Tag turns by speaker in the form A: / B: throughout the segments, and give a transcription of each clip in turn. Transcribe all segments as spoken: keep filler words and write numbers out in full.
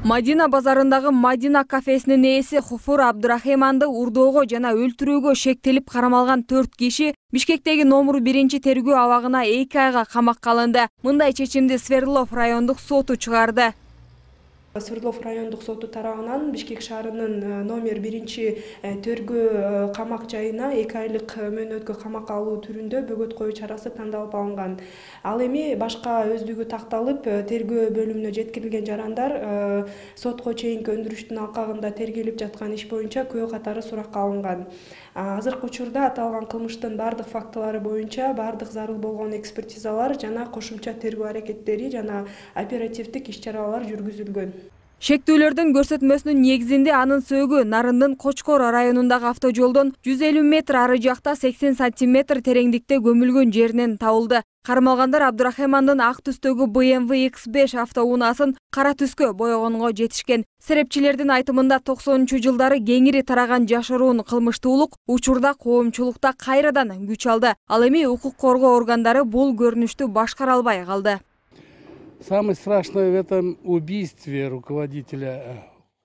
A: Мадина базарындагы Мадина кафесинин ээси Хуфур Абдурахиманды урдоого жана өлтүрүүгө шектелип карамалган төрт киши Бишкектеги номер биринчи тергөө абагына эки айга камакка алынды. Мындай чечимди Свердлов райондук соту чыгарды.
B: Свердлов райондук соту тарабынан Бишкек шаарынын номер биринчи тергөө камак жайына эки айлык мөөнөткө камакка алуу түрүндө бөгөт коюу чарасы тандалып алынган. Ал эми башка өздүгү такталып, тергөө бөлүмүнө жеткирилген жарандар сотко чейинки өндүрүштүн алкагында тергелип жаткан иш боюнча күбө катары суракка алынган. Азыркы учурда аталган кылмыштын бардык фактылары боюнча бардык зарыл болгон экспертизалар жана кошумча тергөө аракеттери жана оперативдик иш-чаралар жүргүзүлгөн.
A: Шектүүлөрдүн көрсөтмөсүнүн негизинде анын сөөгү Нарындын Кочкор районундагы автожолдон жүз элүү метр ары жакта сексен сантиметр тереңдикте көмүлгөн жеринен табылды. Кармалгандар Абдурахимандын ак түстөгү бэ эм вэ икс беш автоунаасын кара түскө боёгонго жетишкен. Серепчилердин айтымында токсонунчу жылдары кеңири тараган жашыруун кылмыштуулук учурда коомчулукта кайрадан күч алды. Ал эми укук коргоо органдары бул көрүнүштү башкара албай калды.
C: Самое страшное в этом убийстве руководителя.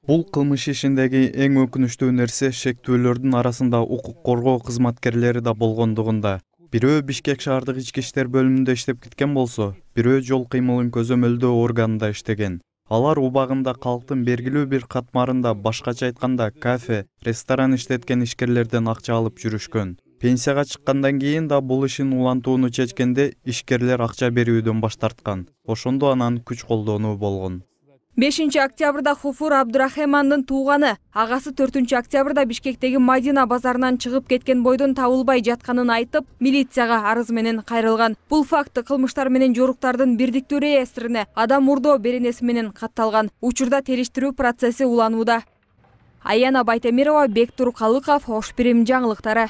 D: Бул кылмыш ишиндеги эң өкүнүчтүү нерсе шектүүлөрдүн арасында укук коргоо кызматкерлери да болгондугунда. Бирөө Бишкек шаардык ички иштер бөлүмүндө иштеп кеткен болсо, бирөө жол кыймылын көзөмөлдөө органында иштеген. Алар убагында калктын бергилүү бир катмарында, башкача айтканда кафе, ресторан иштеткен ишкерлерден акча алып жүрүшкөн. Пенсияга чыккандан кийин да бул ишин улантууну чечкенде ишкерлер акча берүүдөн баш тарткан. Ошондо анан күч колдонуу болгон.
A: бешинчи октябрда Хуфур Абдурахимандын тууганы агасы төртүнчү октябрда Бишкектеги Мадина базарынан чыгып кеткен бойдон табылбай жатканын айтып, милицияга арыз менен кайрылган. Бул факт кылмыштар менен жоруктардын бирдиктүү реестрине адам мурдоо беренеси менен катталган. Учурда териштирүү процесси уланууда. Аяна Байтемирова, Бектур Калыков, Ош Бирим жаңылыктары.